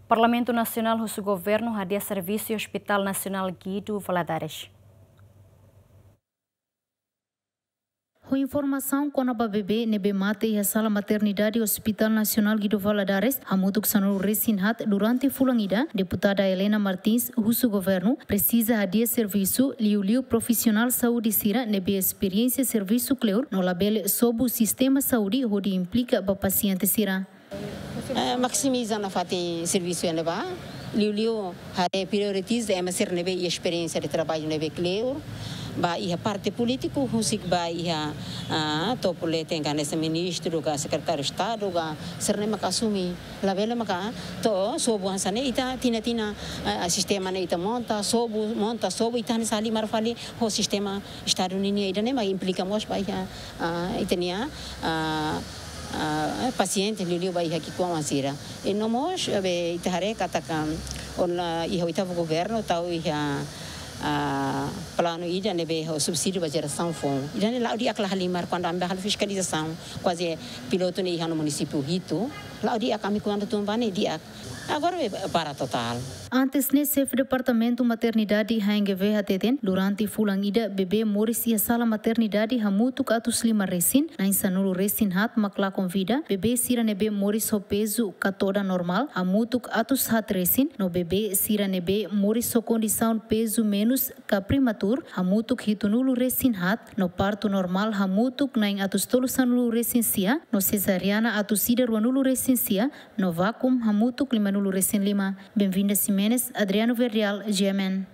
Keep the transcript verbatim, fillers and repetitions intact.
Parlamentu Nasionál husu Governu hadi'a servisu Hospital Nasionál Guido Valadares. Ho informasaun kona-ba bebé ne'ebé mate iha sala maternidade Hospital Nasionál Guido Valadares hamutuk sanulu resin haat durante fulan ida, Deputada Helena Martins husu Governu presiza hadi'a servisu liuliu profisionál saúde sira ne'ebé esperiénsia servisu kleur no labele sobu sistema saúde hodi implika ba pasiente sira. Eh, maksimiza nafatin servisu iha ne'ebá, liuliu haree prioritiza ema sira ne'ebé iha esperiénsia de traballu ne'ebé kleur, ba iha parte polítiku, husik ba iha, ah, topo leten ka hanesan ministru, ka sekretáriu Estadu, ka sira ne'e maka asumi. Labele maka to'o sobu hanesan ne'e ita tinan-tinan, ah, sistema ne'e ita monta, sobu, monta, sobu, ita hanesan halimar fali ho sistema Estadu ninia, ida-ne'e mak implika mós ba iha, ah, ita-nia, ah, ah, pasiente liuliu ba iha ki'ikoan sira. I no mós, be, ita haree katak, ah, ona iha oitavu governu tau iha, ah, planu ida ne'ebé ho subsídiu ba jerasaun foun. Ida-ne'e la'o di'ak, la halimar kuandu ami bá halo fiskalizasaun, kuaze pilotu ne'e iha ona munisípiu hitu. La'o di'ak, ami kuandu tun bá ne'e di'ak. Agora be para totál. Antes ne'e, Xefe Departamentu Maternidade H N G V hateten, durante fulan ida bebé moris iha sala maternidade hamutuk atus lima resin, na'in sanulu resin haat mak lakon vida, bebé sira ne'ebé moris ho pezu ka todan normál hamutuk atus haat resin, no bebé sira ne'ebé moris ho kondisaun pezu menus ka prematur hamutuk hitunulu resin haat, no partu normál hamutuk na'in atus tolu sanulu resin sia, no sezariana atus ida ruanulu resin sia, no vákuu hamutuk limanulu resin lima. Benvinda Ximenes, Adriano Verdial, G M N.